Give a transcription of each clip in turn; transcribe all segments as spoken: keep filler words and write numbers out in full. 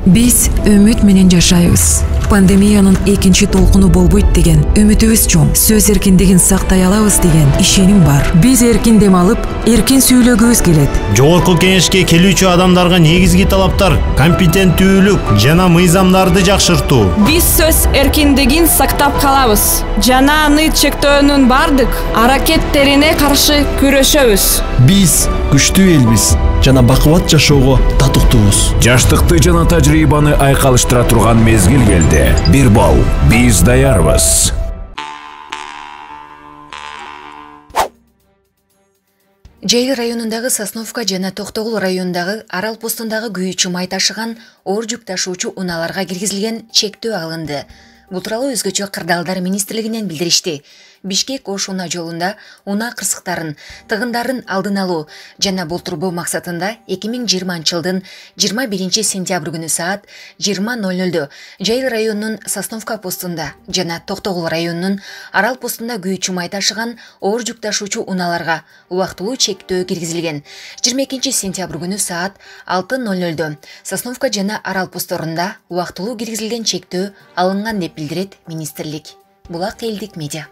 Биз үмүт менен жашайбыз. Пандемиянын экинчи толкуну болбойт деген үмүтүбүз чоң. Сөз эркиндигин сактай алабыз деген ишеним бар. Биз эркин дем алып, эркин сүйлөгүбүз келет. Жогорку кеңешке келүүчү адамдарга негизги талаптар компетенттүүлүк жана мыйзамдарды жакшыртуу. Биз сөз эркиндигин сактап калабыз жана аны чектөөнүн бардык аракеттерине каршы күрөшөбүз. Биз күчтүү элбиз жана бакубат жашоого татыктуубуз. Жаштыкты жана тажрыйбаны айкалыштыра турган мезгил келди. Бир балл, биз даярбыз. Жайыл районундагы Сосновка жана Токтогул районундагы Арал постундагы күйүүчү май ташыган оор жүк ташуучу унааларга киргизилген чектөө алынды. Бул тууралуу өзгөчө кырдаалдар министрлигинен билдиришти. Бишкек Ош унаа жолунда унаа кырсыктарын, тыгындарын алдын алуу жана болтурбоо максатында эки миң жыйырманчы жылдын жыйырма биринчи сентябрь күнү саат жыйырма ноль нольдо Жайыл районунун Сосновка постунда жана Токтогул районунун Арал постунда күйүүчү май ташыган оор жүк ташуучу унааларга убактылуу чектөө киргизилген. жыйырма экинчи сентябрь күнү саат алты ноль нольдо Сосновка жана Арал постторунда убактылуу киргизилген чектөө алынган деп билдирет министрлик. Булак элдик медиа.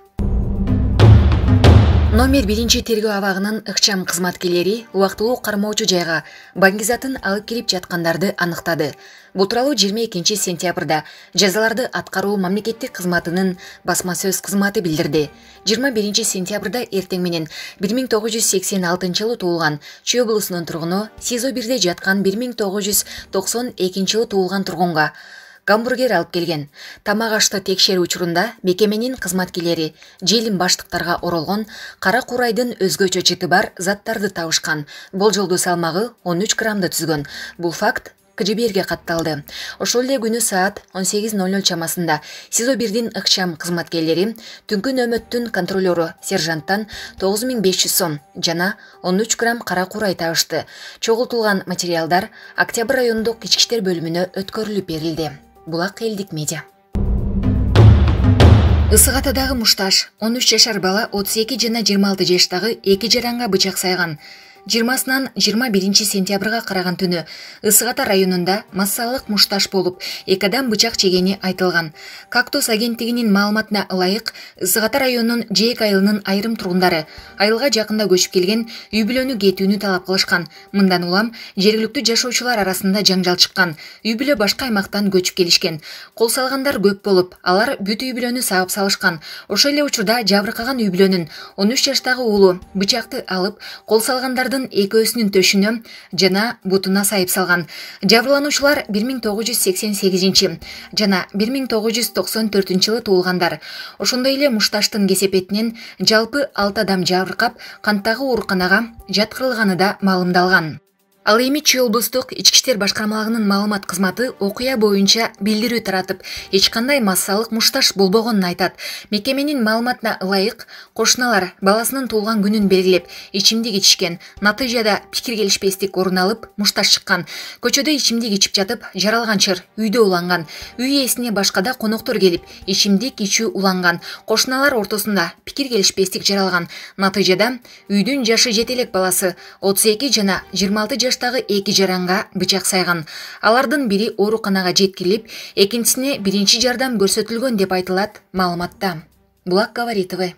Номер биринчи тергөө абагынын ыкчам кызматкерлери убактылуу кармоочу жайга баңгизатын алып кирип жаткандарды аныктады. Бул тууралуу жыйырма экинчи сентябрда жазаларды аткаруу мамлекеттик кызматынын басма сөз кызматы билдирди. жыйырма биринчи сентябрда эртең менен бир миң тогуз жүз сексен алтынчы жылы туулган Чүй облусунун тургуну СИЗО бирде жаткан бир миң тогуз жүз токсон экинчи жылы туулган тургунга гамбургер алып келген. Тамак ашты текшерүү учурунда мекеменин кызматкерлери желим баштыктарга оролгон кара курайдын өзгөчө жыты бар заттарды табышкан. Болжолдуу салмагы он үч граммды түзгөн. Бул факт К Ж Б Рге катталды. Ошол эле күнү саат он сегиз ноль ноль чамасында СИЗО бирдин ыкчам кызматкерлери түнкү нөмөттүн контролеру сержанттан тогуз миң беш жүз сом жана он үч грамм кара курай табышты. Чогултулган материалдар Октябрь райондук ички иштер бөлүмүнө өткөрүлүп берилди. Булак элдик медиа. Ысык Атадагы мушташ он үч жашар бала отуз эки жана жыйырма алты жаштагы эки жаранга бычак сайган. жыйырмасынан жыйырма биринчи сентябрга караган түнү Ысык Ата районунда массалык мушташ болуп, эки адам бычак чегени айтылган. Кактус агенттигинин маалыматына ылайык, Ысык Ата районунун Жээк айылынын айрым тургундары айылга жакында көчүп келген үй бүлөнү кетүүнү талап кылышкан. Мындан улам жергиликтүү жашоочулар арасында жаңжал чыккан. Үй бүлө башка аймактан көчүп келишкен. Кол салгандар көп болуп, алар бүт үй бүлөнү саап салышкан. Ошол эле учурда жабыркаган үй бүлөнүн он үч жаштагы уулу бычакты алып, кол салгандардын экөөсүнүн төшүнө жана бутуна сайып салган. Жабырлануучулар бир миң тогуз жүз сексен сегизинчи жана бир миң тогуз жүз токсон төртүнчү жылы туулгандар. Ошондой эле мушташтын кесепетинен жалпы алты адам жабыркап, канттагы ооруканага жаткырылганы да маалымдалган. Ал эми Чүй облустук ички иштер башкармалыгынын маалымат кызматы окуя боюнча билдирүү таратып, эч кандай массалык мушташ болбогонун айтат. Мекеменин маалыматына ылайык, кошуналар баласынын туулган күнүн белгилеп, ичимдик ичишкен. Натыйжада пикир келишпестик орун алып, мушташ чыккан. Көчөдө ичимдик ичип жатып, жаралганчыр үйдө уланган. Үй ээсине башкада коноктор келип, ичимдик ичүү уланган. Кошуналар ортосунда пикир келишпестик жаралган. Натыйжада үйдүн жашы жете элек баласы отуз эки жана жыйырма алты жаш эки жаранга бычак сайган. Алардын бири ооруканага жеткирилип, экинчисине биринчи жардам көрсөтүлгөн деп айтылат маалыматта. Булак Говоритовы.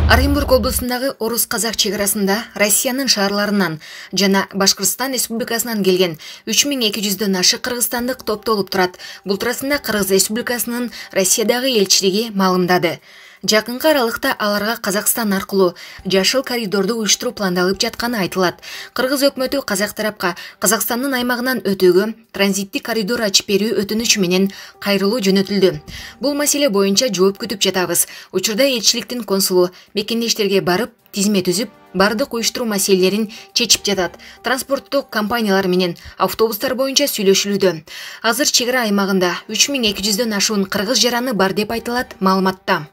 Оренбург облусундагы Орус-Казак чек арасында Россиянын шаарларынан жана Башкыртстан Республикасынан келген үч миң эки жүздөн ашык кыргызстандык топтолуп турат. Бул туурасында Кыргыз Республикасынын Россиядагы элчилиги маалымдады. Жакынкы аралыкта аларга Казакстан аркылуу жашыл коридорду уюштуруу пландалып жатканы айтылат. Кыргыз өкмөтү казак тарапка Казакстандын аймагынан өтүүгө транзиттик коридор ачып берүү өтүнүчү менен кайрылуу жөнөтүлдү. Бул маселе боюнча жооп күтүп жатабыз. Учурда элчиликтин консулу мекендештерге барып, тизме түзүп, бардык уюштуруу маселелерин чечип жатат. Транспорттук компаниялар менен автобустар боюнча сүйлөшүлүүдө. Азыр чек ара аймагында үч миң эки жүздөн ашуун кыргыз жараны бар деп айтылат маалыматта.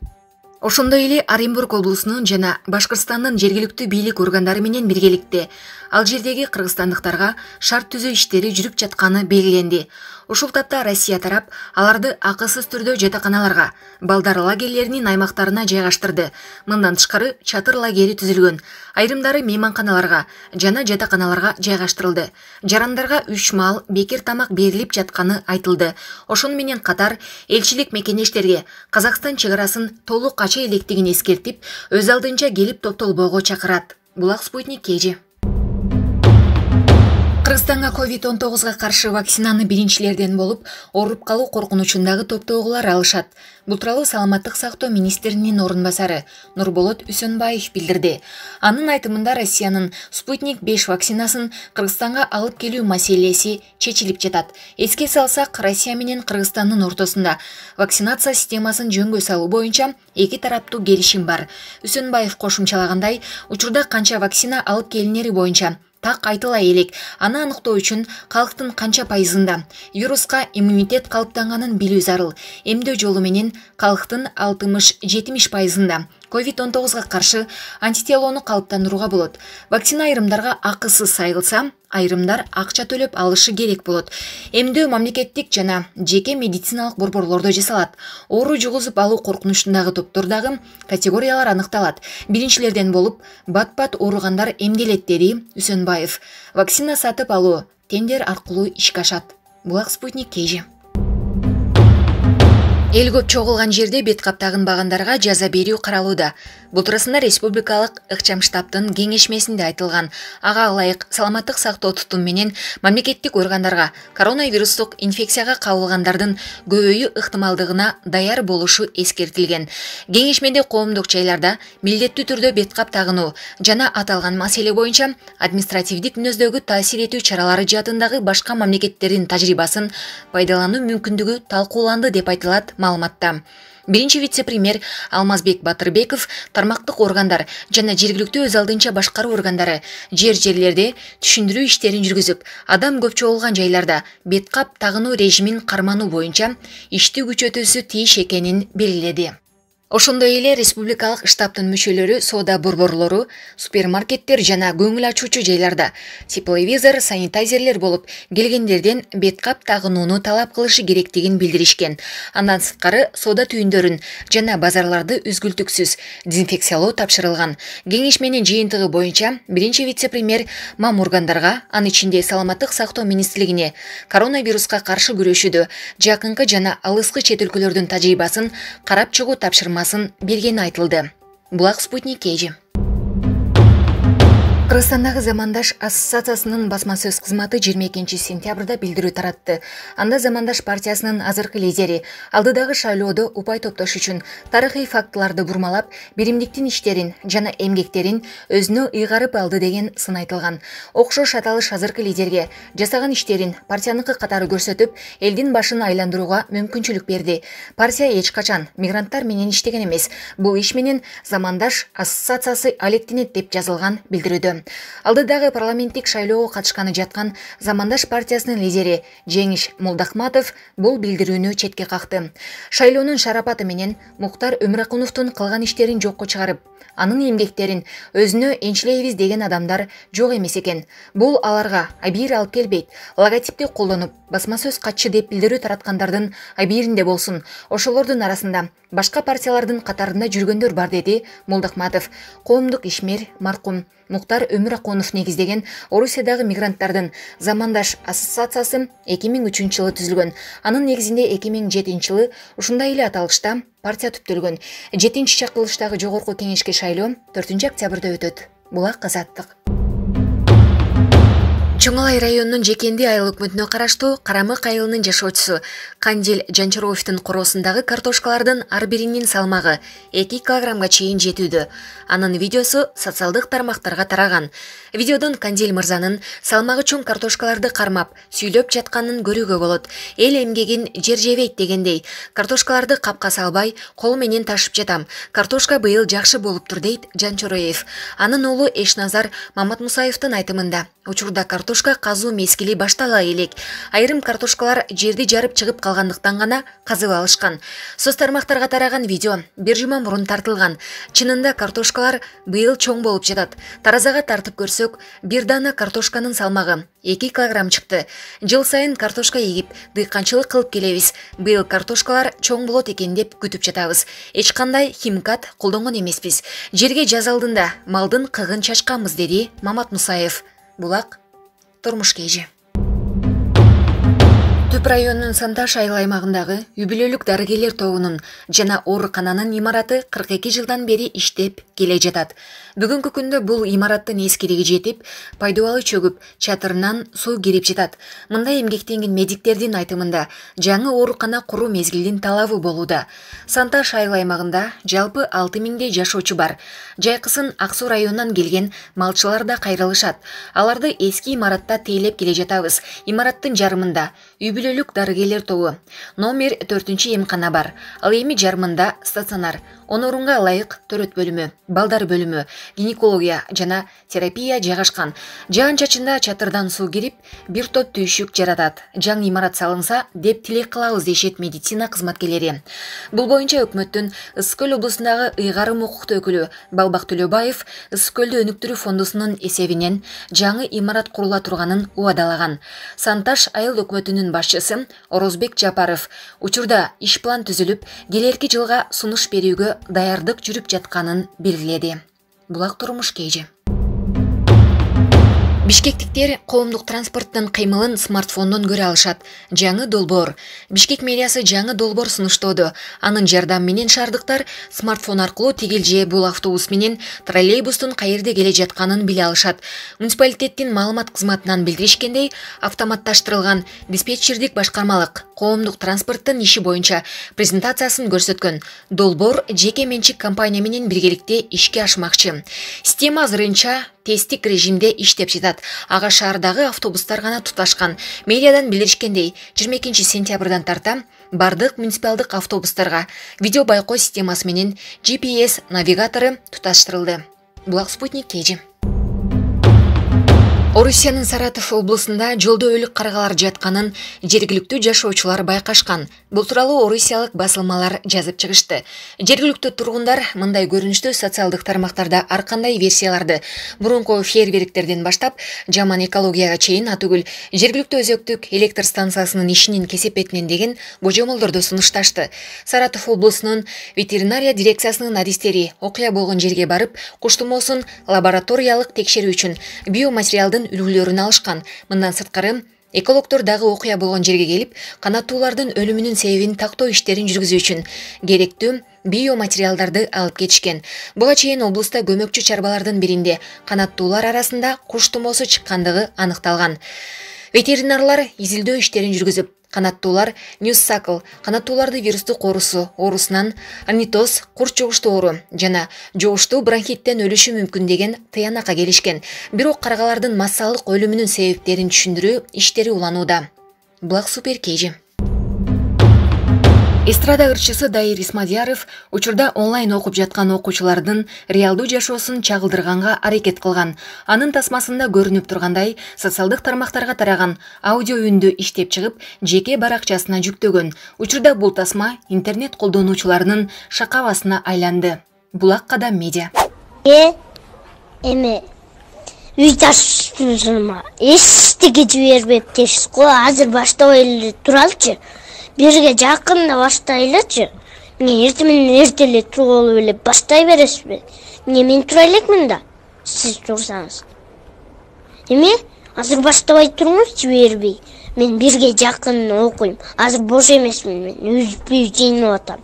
Ошондой эле Оренбург облусунун жана Башкыртстандын жергиликтүү бийлик органдары менен биргеликте Ал жердеги кыргызстандыктарга шарт түзөө иштери жүрүп жатканы белгиленди. Ушул тапта Россия тарап аларды акысыз түрдө жатаканаларга, балдар лагерлеринин аймактарына жайгаштырды. Мындан тышкары чатыр лагери түзүлгөн. Айрымдары мейманканаларга жана жатаканаларга жайгаштырылды. Жарандарга үч маал бекер тамак берилип жатканы айтылды. Ошону менен катар элчилик мекенештерге Казакстан чек арасын толук ача электигин эскертип, өз алдынча келип топтолбоого чакырат. Булак Спутник Кежи. Кыргызстанга ковид он тогузга каршы вакцинаны биринчилерден болуп, ооруп калуу коркунучундагы топтогулар алышат. Бул тууралуу Саламаттык сактоо министринин орун басары Нурболот Үсөнбаев билдирди. Анын айтымында Россиянын Спутник беш вакцинасын Кыргызстанга алып келүү маселеси чечилип жатат. Эске салсак, Россия менен Кыргызстандын ортосунда вакцинация системасын жөнгө салуу боюнча эки тараптуу келишим бар. Үсөнбаев кошумчалагандай, учурда канча вакцина алып келинери боюнча так айтыла элек. Аны аныктоо үчүн калктын канча пайызында вируска иммунитет калыптанганын билүү зарыл. Эмдөө жолу менен калктын алтымыш жетимиш пайызында ковид он тогузга каршы антителоону калыптандырууга болот. Вакцина айрымдарга акысыз сайылса, айрымдар акча төлөп алышы керек болот. Эмдөө мамлекеттик жана жеке медициналык борборлордо жасалат. Оору жугузуп алуу коркунучундагы топтордагы категориялар аныкталат. Биринчилерден болуп, бат-бат ооругандар эмделет, деди Үсөнбаев. Вакцина сатып алуу тендер аркылуу ишке ашат. Булак Спутник Кежи. Эл көп чогулган жерде бет каптагын багандарга жаза берүү каралууда. Бул туурасында республикалык ыкчам штабтын кеңешмесинде айтылган. Ага ылайык саламаттык сактоо тутум менен мамлекеттик органдарга коронавирустук инфекцияга кабылгандардын көбөйүү ыктымалдыгына даяр болушу эскертилген. Кеңешмеде коомдук жайларда милдеттүү түрдө бет кап тагынуу жана аталган маселе боюнча административдик мүнөздөгү таасир этүү чаралары жаатындагы башка мамлекеттердин тажрыйбасын пайдалануу мүмкүндүгү талкууланды деп айтылат маалыматта. Биринчи вице-премьер Алмазбек Батырбеков тармактык органдар жана жергиликтүү өз алдынча башкаруу органдары жер-жерлерде түшүндүрүү иштерин жүргүзүп, адам көп чогулган жайларда бет кап тагынуу режимин кармануу боюнча ишти күчөтүүсү тийиш экенин белгиледи. Ошондой эле республикалык штабтын мүчөлөрү соода борборлору, супермаркеттер жана көңүл ачуучу жайларда тепловизор, санитайзерлер болуп келгендерден бет кап тагынууну талап кылышы керектигин билдиришкен. Андан сырткары соода түйүндөрүн жана базарларды үзгүлтүксүз дезинфекциялоо тапшырылган. Кеңешменин жыйынтыгы боюнча биринчи вице-премьер маморгандарга, анын ичинде Саламаттык сактоо министрлигине коронавируска каршы күрөшүүдө жакынкы жана алыскы чет өлкөлөрдүн тажрыйбасын карап чыгуу тапшырмасын бергени айтылды. Булак Спутник Кежи. Кыргызстандагы Замандаш ассоциациясынын басма сөз кызматы жыйырма экинчи сентябрда билдирүү таратты. Анда Замандаш партиясынын азыркы лидери алдыдагы шайлоодо упай топтош үчүн тарыхый фактыларды бурмалап, биримдиктин иштерин жана эмгектерин өзүнө ыйгарып алды деген сын айтылган. Окшош аталыш азыркы лидерге жасаган иштерин партияныкы катары көрсөтүп, элдин башын айландырууга мүмкүнчүлүк берди. Партия эч качан мигранттар менен иштеген эмес. Бул иш менен Замандаш ассоциациясы алектенет деп жазылган билдирүүдө. Алдыдагы парламенттик шайлоого катышканы жаткан Замандаш партиясынын лидери Жеңиш Молдахматов бул билдирүүнү четке какты. Шайлоонун шарапаты менен Муктар Өмүракуновдун кылган иштерин жокко чыгарып, анын эмгектерин өзүнө энчилейбиз деген адамдар жок эмес экен. Бул аларга абийир алып келбейт. Логотипти колдонуп, басма сөз катчы деп билдирүү тараткандардын абийиринде болсун. Ошолордун арасында башка партиялардын катарында жүргөндөр бар, деди Молдахматов. Коомдук ишмер маркум Муктар Өмүракунов негиздеген Орусиядагы мигранттардын Замандаш ассоциациясы эки миң үчүнчү жылы түзүлгөн. Анын негизинде эки миң жетинчи жылы ушундай эле аталышта партия түптөлгөн. жетинчи чакырылыштагы жогорку кеңешке шайлоо төртүнчү октябрда өтөт. Булак Азаттык. Чоңалай районунун Жекенди айыл өкмөтүнө караштуу Карамык айылынын жашоочусу Кандил Жанчаровдун короосундагы картошкалардын ар биринин салмагы эки килограммга чейин жетүүдө. Анын видеосу социалдык тармактарга тараган. Видеодон Кандил мырзанын салмагы чоң картошкаларды кармап, сүйлөп жатканын көрүүгө болот. Эл эмгегин жер жебейт дегендей, картошкаларды капка салбай, кол менен ташып жатам. Картошка быйыл жакшы болуптур, дейт Жанчароев. Анын уулу Эшназар Маматмусаевдин айтымында, учурда картошка картошка казуу мезгили баштала элек. Айрым картошкалар жерди жарып чыгып калгандыктан гана казып алышкан. Соц тармактарга тараган видео бир жума мурун тартылган. Чынында картошкалар быйыл чоң болуп жатат. Таразага тартып көрсөк, бир дана картошканын салмагы эки килограмм чыкты. Жыл сайын картошка эгип, дыйканчылык кылып келебиз. Быйыл картошкалар чоң болот экен деп күтүп жатабыз. Эч кандай химикат колдонгон эмеспиз. Жерге жаз алдында малдын кыгын чачканбыз, деди Мамат Мусаев. Булак турмуш кежи. Түп районунун Санташ айыл аймагындагы үй бүлөлүк дарыгерлер тобунун жана оорукананын имараты кырк эки жылдан бери иштеп келе жатат. Бүгүнкү күндө бул имараттын эскилиги жетип, пайдубалы чөгүп, чатырынан суу кирип жатат. Мындай эмгектенген медиктердин айтымында жаңы оорукана куруу мезгилдин талабы болууда. Санташ айыл аймагында жалпы алты миңдей жашоочу бар. Жайкысын Ак Суу районунан келген малчылар да кайрылышат. Аларды эски имаратта тейлеп келе жатабыз. Имараттын жарымында үй бүлөлүк дарыгерлер тобу номер төртүнчү эмкана бар. Ал эми жарымында стационар, он орунга ылайык төрөт бөлүмү, балдар бөлүмү, гинекология жана терапия жайгашкан. Жаан-чачында чатырдан суу кирип, бир топ түйшүк жаратат. Жаңы имарат салынса деп тилек кылабыз, дешет медицина кызматкерлери. Бул боюнча өкмөттүн Ысык Көл облусундагы ыйгарым укуктуу өкүлү Балбак Төлөбаев Ысык Көлдү өнүктүрүү фондусунун эсебинен жаңы имарат курула турганын убадалаган. Санташ айыл өкмөтүнүн башчысы Орозбек Жапаров учурда иш план түзүлүп, келерки жылга сунуш берүүгө даярдык жүрүп жатканын белгиледи. Булак турмуш кежи. Бишкектиктер коомдук транспорттун кыймылын смартфондон көрө алышат. Жаңы долбоор. Бишкек мэриясы жаңы долбоор сунуштоодо. Анын жардамы менен шаардыктар смартфон аркылуу тигил же бул автобус менен троллейбустун каерде келе жатканын биле алышат. Муниципалитеттин маалымат кызматынан билдиришкендей, автоматташтырылган диспетчердик башкармалык коомдук транспорттун иши боюнча презентациясын көрсөткөн. Долбоор жеке менчик компания менен биргеликте ишке ашмакчы. Система азырынча тесттик режимде иштеп жатат. Ага шаардагы автобустар гана туташкан. Медиадан билдиришкендей, жыйырма экинчи сентябрдан тарта бардык муниципалдык автобустарга видео байкоо системасы менен джи пи эс навигатору туташтырылды. Булак спутник кежи. Орусиянын Саратов облусунда жолдо өлүк каргалар жатканын жергиликтүү жашоочулар байкашкан. Бул тууралуу орусиялык басылмалар жазып чыгышты. Жергиликтүү тургундар мындай көрүнүштүү социалдык тармактарда ар кандай версияларды, мурунку фейерверктерден баштап жаман экологияга чейин атүгүл жергиликтүү өзөктүк электр станциясынын ишинин кесепетинен деген божомолдорду сунушташты. Саратов облусунун ветеринария дирекциясынын адистери окуя болгон жерге барып, куш тумоосун лабораториялык текшерүү үчүн биоматериалдын үлгүлөрүн алышкан. Мындан сырткары экологдор дагы окуя болгон жерге келип, канаттуулардын өлүмүнүн себебин тактоо иштерин жүргүзүү үчүн керектүү биоматериалдарды алып кетишкен. Буга чейин облуста көмөкчү чарбалардын биринде канаттуулар арасында куш тумоосу чыккандыгы аныкталган. Ветеринарлар изилдөө иштерин жүргүзүп, канаттуулар Ньюссакл, канаттууларды вирустук оорусу, оорусунан орнитоз, курч жугуштуу оору жана жугуштуу бронхиттен өлүшү мүмкүн деген тыянакка келишкен. Бирок каргалардын массалык өлүмүнүн себептерин түшүндүрүү иштери уланууда. Булак супер кежи. Эстрада ырчысы Дайыр Исмадияров учурда онлайн окуп жаткан окуучулардын реалдуу жашоосун чагылдырганга аракет кылган. Анын тасмасында көрүнүп тургандай, социалдык тармактарга тараган аудио үндү иштеп чыгып, жеке баракчасына жүктөгөн. Учурда бул тасма интернет колдонуучуларынын шакабасына айланды. Булак Кадам медиа. Э, эме үйташсызма эстиге жибербеп дешиз го. Азыр баштабай эле туралычы. Бирге жакында баштайлычы. Эмне эртең менен эрте эле туруп алып эле баштай бересизби? Эмне мен тура элекмин да, сиз турсаңыз. Эме азыр баштабай туруңуз, жибербей. Мен бирге жакын окуйм. Азыр бош эмесмин мен, үзбүй жыйнап атам.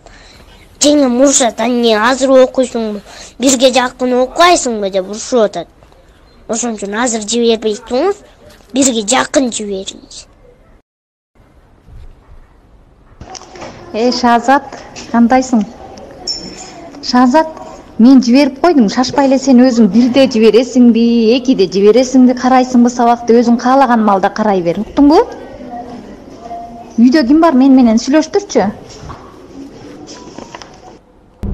Жеңим урушат, анне азыр окуйсуңбу? Бирге жакын окуйсуңбу деп урушуп атат. Ошон үчүн азыр жибербей туруңуз, бирге жакын жибериңиз. Э, Шазат, кандайсың? Шазат, мен жиберип койдум. Шашпай эле сен өзүң бирде жибересиңби, экиде жибересиңби, карайсыңбы сабакты өзүң каалаган маалда карай бер. Уктуңбу? Үйдө ким бар? Мен менен сүйлөштүрчү.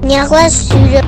Не кыласыз сүйлөп?